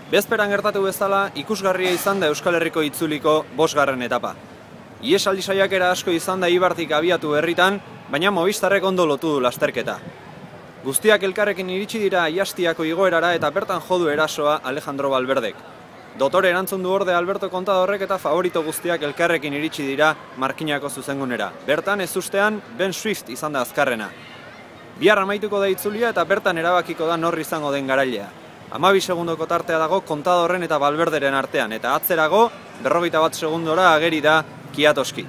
Bezperan gertatu bezala, ikusgarria izan da Euskal Herriko itzuliko 5. etapa. Ihesaldi saiakera asko izan da Eibartik abiatu berritan, baina Movistarrek ondo lotu du lasterketa. Guztiak elkarrekin iritsi dira Aiastiako igoerara eta bertan jodu erasoa Alejandro Valverdek. Dotore erantzun du orde Alberto Contadorrek eta favorito guztiak elkarrekin iritsi dira Markinako zuzengunera. Bertan ez ustean Ben Swift izan da azkarrena. Bihar amaituko da itzulia eta bertan erabakiko da nor izango den garailea. 12 segundoko tartea dago Contadorren eta Valverderen artean, eta atzerago 41 segundora ageri da Kwiatkowski.